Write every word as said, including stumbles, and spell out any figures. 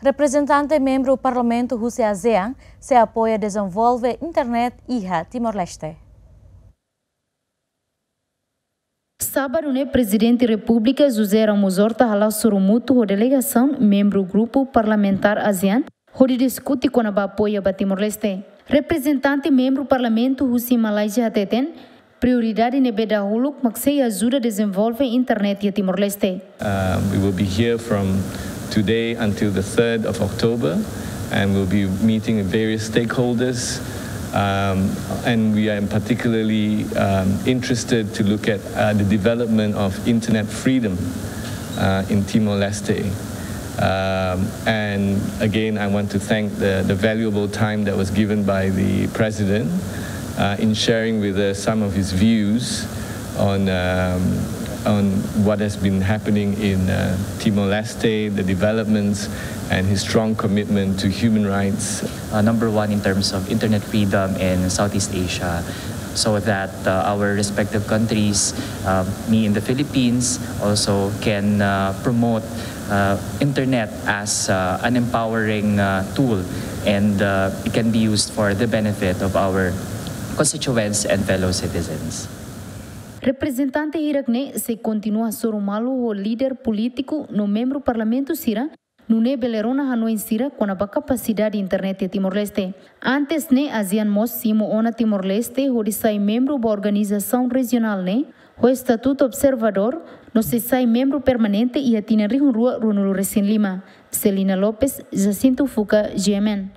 Reprezentante membru Parlamentu husi ASEAN sei apoia dezenvolve internet iha Timor-Leste. Sábadu ne'e, Prezidente Repúblika José Ramos Horta hala'o sorumutu ho delegasaun membru grupu parlamentár ASEAN hodi diskute kona-ba apoia ba Timor-Leste. Reprezentante membru Parlamentu husi Malázia hateten, prioridade ne'ebé dahuluk mak sei ajuda dezenvolve internet iha Timor-Leste. Um, we will be here from today until the third of October, and we'll be meeting with various stakeholders. Um, and we are particularly um, interested to look at uh, the development of internet freedom uh, in Timor-Leste. Um, and again, I want to thank the, the valuable time that was given by the President uh, in sharing with us some of his views on, um, on what has been happening in uh, Timor-Leste, the developments, and his strong commitment to human rights. Uh, number one in terms of internet freedom in Southeast Asia, so that uh, our respective countries, uh, me in the Philippines, also can uh, promote uh, internet as uh, an empowering uh, tool, and uh, it can be used for the benefit of our constituents and fellow citizens. Reprezentante hirak-ne'e sei kontinua hasoru malu ho líder polítiku no membru Parlamentu sira, nune'e bele rona hanoin sira kona-ba kapasidade internet iha Timor-Leste. Antes ne'e, ASEAN mós simu ona Timor-Leste hodi sai membru ba organizasaun rejionál ne'e, ho estatutu observadór, no sei sai membru permanente iha tinan rihun rua ruanulu resin lima. Celina Lopes, Jacinto Fuca, G M N.